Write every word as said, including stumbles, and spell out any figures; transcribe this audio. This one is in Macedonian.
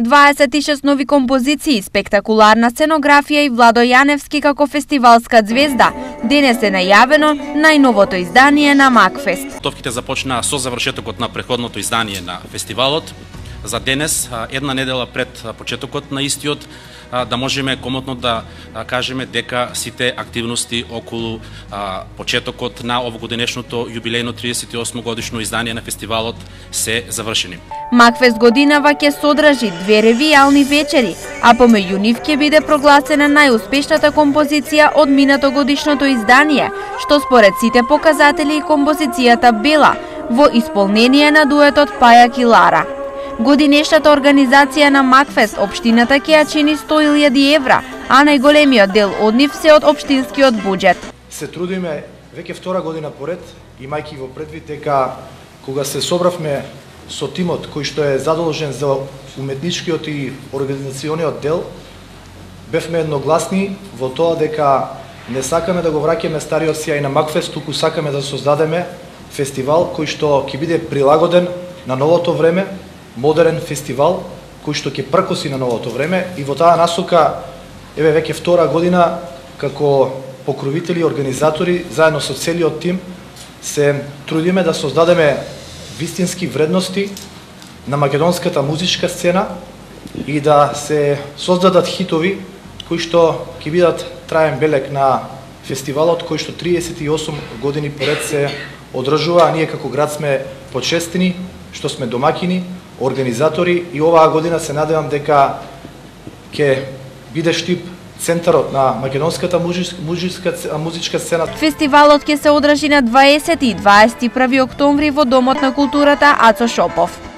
дваесет и шест нови композиции, спектакуларна сценографија и Владо Јаневски како фестивалска звезда. Денес е најавено најновото издание на Макфест. Подготовките започнаа со завршетокот на претходното издание на фестивалот. За денес, една недела пред почетокот на истиот, да можеме комотно да кажеме дека сите активности околу почетокот на овогодинешното јубилејно триесет и осмо годишно издание на фестивалот се завршени. Макфест годинава ќе содржи две ревијални вечери, а помеѓу нив ќе биде прогласена најуспешната композиција од минато годишното издание, што според сите показатели и композицијата бела во исполнение на дуетот Пајак и Лара. Годинешната организација на Макфест општината ќе ја чини сто илјади евра, а најголемиот дел од нив се од општинскиот буџет. Се трудиме веќе втора година поред, имајќи во предвид дека кога се собравме со тимот кој што е задолжен за уметничкиот и организациониот дел, бевме едногласни во тоа дека не сакаме да го враќаме стариот сјај на Макфест, туку сакаме да создадеме фестивал кој што ќе биде прилагоден на новото време, модерен фестивал кој што ќе пркоси на новото време, и во таа насока еве веќе втора година како покровители и организатори заедно со целиот тим се трудиме да создадеме вистински вредности на македонската музичка сцена и да се создадат хитови кои што ќе бидат траен белег на фестивалот кој што триесет и осум години поред се одржува, а ние како град сме почестени што сме домакини, организатори, и оваа година се надевам дека ќе биде Штип центарот на македонската музичка, музичка сцена. Фестивалот ќе се одржи на дваесети и дваесет и први октомври во Домот на културата Ацо Шопов.